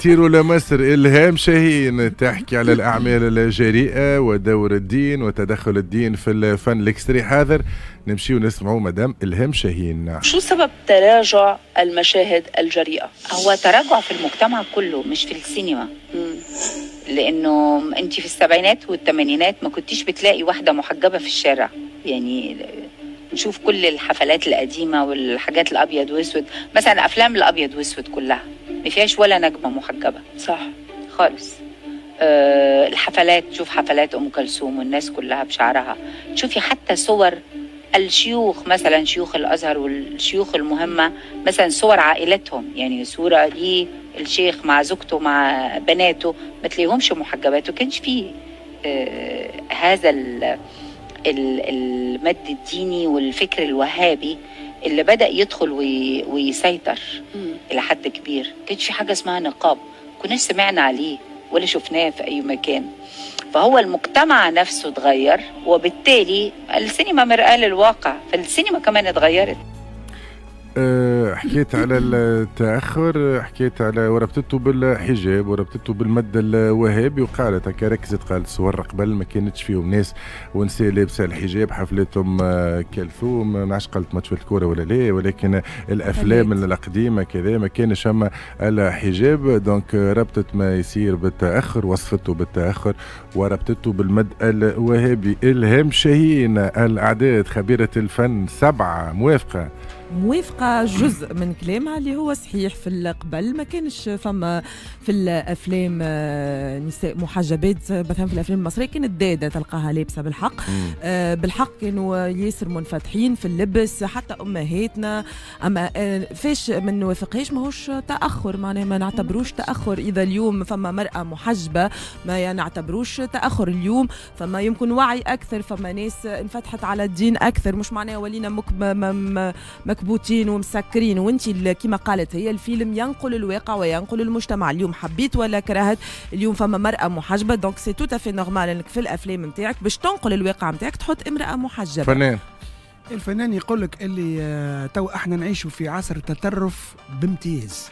نطيروا لمصر. إلهام شاهين تحكي على الأعمال الجريئة ودور الدين وتدخل الدين في الفن. ال extrait حاضر، نمشي ونسمعوا مدام إلهام شاهين. شو سبب تراجع المشاهد الجريئة؟ هو تراجع في المجتمع كله مش في السينما. لأنه أنت في السبعينات والثمانينات ما كنتيش بتلاقي واحدة محجبة في الشارع، يعني نشوف كل الحفلات القديمة والحاجات الأبيض وأسود، مثلا أفلام الأبيض وأسود كلها ما فيهاش ولا نجمة محجبة، صح خالص. الحفلات، تشوف حفلات أم كلثوم والناس كلها بشعرها، تشوفي حتى صور الشيوخ مثلا، شيوخ الأزهر والشيوخ المهمة مثلا، صور عائلتهم، يعني صورة للشيخ مع زوجته مع بناته ما تلاقيهمش محجبات، وكانش فيه هذا المد الديني والفكر الوهابي اللي بدأ يدخل ويسيطر إلى حد كبير. كانش في حاجة اسمها نقاب، كناش سمعنا عليه ولا شفناه في أي مكان. فهو المجتمع نفسه اتغير، وبالتالي السينما مرآة للواقع، فالسينما كمان اتغيرت. حكيت على التأخر، حكيت على وربطته بالحجاب وربطته بالمد الوهابي، وقالت هكا ركزت، قالت صور قبل ما كانتش فيهم ناس ونساء لابسه الحجاب، حفلتهم كلثوم، ما عادش قالت ماتش الكورة ولا لا، ولكن الافلام القديمة كذا ما كانش اما الحجاب. donc ربطت ما يصير بالتأخر، وصفته بالتأخر وربطته بالمد الوهابي. إلهام شاهين الأعداد خبيرة الفن 7، موافقة؟ موافقة جزء من كلامها اللي هو صحيح. في القبل ما كانش فما في الأفلام نساء محجبات، مثلا في الأفلام المصرية كانت دادة تلقاها لابسة بالحق. بالحق كانوا ياسر منفتحين في اللبس حتى أمهاتنا. أما فاش ما نوافقهاش ماهوش تأخر، معناها ما نعتبروش تأخر. إذا اليوم فما مرأة محجبة ما نعتبروش تأخر. اليوم فما يمكن وعي أكثر، فما ناس انفتحت على الدين أكثر، مش معناها ولينا مكبوتين ومسكرين. وانت كما قالت هي، الفيلم ينقل الواقع وينقل المجتمع. اليوم حبيت ولا كرهت، اليوم فما مرأة محجبة، donc c'est tout à fait normal انك في الافلام نتاعك باش تنقل الواقع نتاعك تحط امرأة محجبة. فنان، الفنان يقول لك اللي تو احنا نعيشوا في عصر التطرف بامتياز.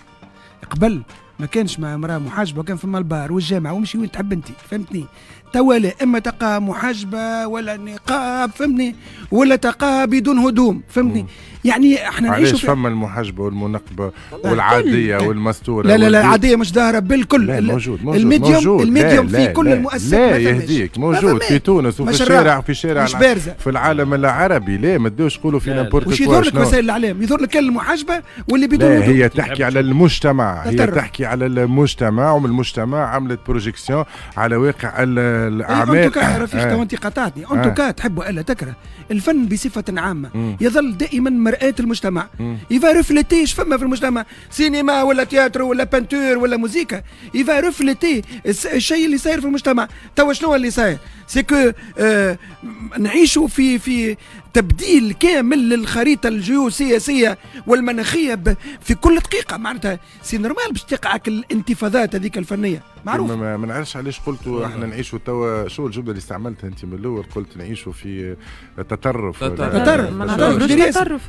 قبل ما كانش مع امرأة محجبة، وكان فما البار والجامعة ومشي وين تحب انت، فهمتني؟ توا لا، اما تلقاها محجبة ولا نقاب، فهمتني؟ ولا تلقاها بدون هدوم، فهمتني؟ يعني احنا نعيشوا علاش فما المحجبه والمنقبه والعاديه والمستوره؟ لا لا لا، العادية مش ظاهره بالكل. لا، موجود موجود ال médium موجود. ال médium لا في كل لا المؤسسات. لا يهديك، موجود في تونس وفي الشارع، في الشارع مش بارزة في العالم العربي. لا ما تدوش تقولوا في n'importe وش يظهر لك وسائل الاعلام، يظهر لك المحجبه واللي بدون هدوم. هي تحكي على المجتمع، هي تحكي على المجتمع، ومن المجتمع عملت projection على واقع الاعمال. en tout cas رفيق، تو انت قطعتني. en tout cas تحب والا تكره، الفن بصفة عامة يظل دائما مرآة المجتمع. il va refléter اش فما في المجتمع، سينما ولا théâtre ولا peinture ولا موزيكا، il va refléter الشيء اللي صاير في المجتمع. توا شنو اللي صاير؟ c'est que نعيشوا في تبديل كامل للخريطه الجيوسياسية والمناخيه في كل دقيقة، معناتها c'est normal باش تقع الانتفاضات هذيك الفنية، معروف. ما نعرفش علاش قلتوا احنا نعيشوا توا، شو الجملة اللي استعملتها انت من الاول؟ قلت نعيشوا في تطرف. تطرف، تطرف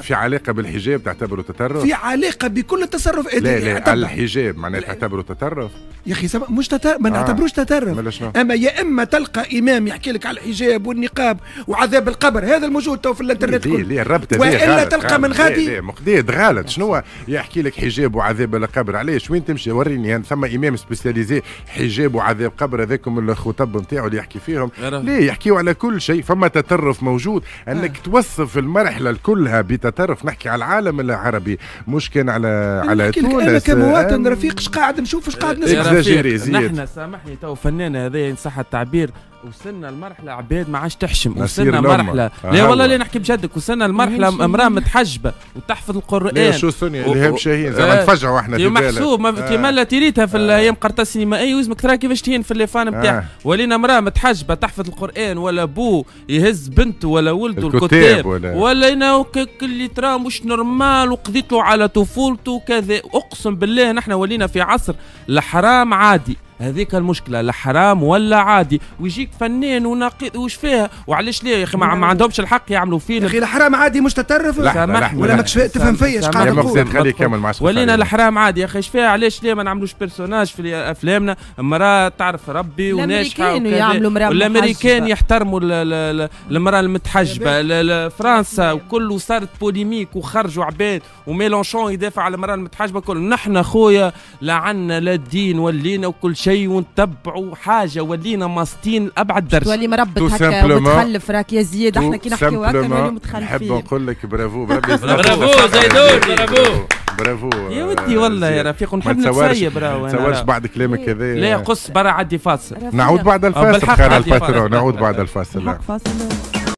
في علاقة بالحجاب تعتبره تطرف؟ في علاقة بكل التصرف. لا لا، الحجاب معناها تعتبره تطرف؟ يا اخي مش تطرف، ما نعتبروش تطرف. اما يا اما تلقى امام يحكي لك على الحجاب والنقاب وعذاب القبر، هذا الموجود تو في الانترنت كله. ليه الربط؟ والا تلقى من غادي مقداد غلط. شنو يحكي لك حجاب وعذاب القبر؟ علاش وين تمشي وريني يعني ثم امام spécialisé حجاب وعذاب قبر، هذاكم الخطب نتاعو اللي يحكي فيهم. ليه يحكيوا على كل شيء؟ فما تطرف موجود، انك توصف المرحلة كلها بتطرف. نحكي على العالم العربي مش كان على تونس. انا كمواطن رفيق اش قاعد نشوف، اش قاعد نسمع. نحن سامحني تو فنانة هذا إن صح التعبير، وصلنا لمرحلة عباد ما عادش تحشم، وصلنا مرحلة لا والله لا نحكي بجدك، وصلنا لمرحلة امراة متحجبه وتحفظ القران. لا شو سونيا الهام شاهين زعما نتفجعوا احنا في بالك محسوب كيما لا تريتها في الايام قرطاج السينمائية ويلزمك ترى كيفاش تهين في les fans نتاعها. ولينا امراة متحجبه تحفظ القران ولا بو يهز بنته ولا ولده الكتاب ولا اللي ترى مش normal وقضيت له على طفولته وكذا. اقسم بالله نحن ولينا في عصر الحرام عادي. هذيك المشكلة، الحرام ولا عادي، ويجيك فنان وناقد وش فيها وعلاش ليه يا اخي ما عندهمش الحق يعملوا فيلم؟ يا اخي الحرام عادي مش تطرف ولا ماكش تفهم فيا اش قاعد نقول؟ خليه يكمل مع ولينا الحرام عادي يا اخي اش فيها؟ علاش ليه ما نعملوش personnage في افلامنا امراة تعرف ربي وناجحة؟ والامريكان يحترموا المراة المتحجبه، فرنسا وكله صارت polémique وخرجوا عباد وميلونشون يدافع على المراة المتحجبه كل. نحن خويا لا عنا لا الدين ولينا وكل شيء ونتبعوا حاجة ولينا ماسطين لابعد درجه. تولي مربط هكا ومتخلف راك يا زياد، احنا كي نحكيو هكا نوليو متخلفين. نحب نقول لك bravo bravo زيدون bravo برافو يا ودي والله يا رفيق، ونحب نتسيب راهو. ما تصورش بعد كلامك هذا لا قص برا عدي فاصل. نعود بعد الفاصل خير ال patron، نعود بعد الفاصل. فاصل.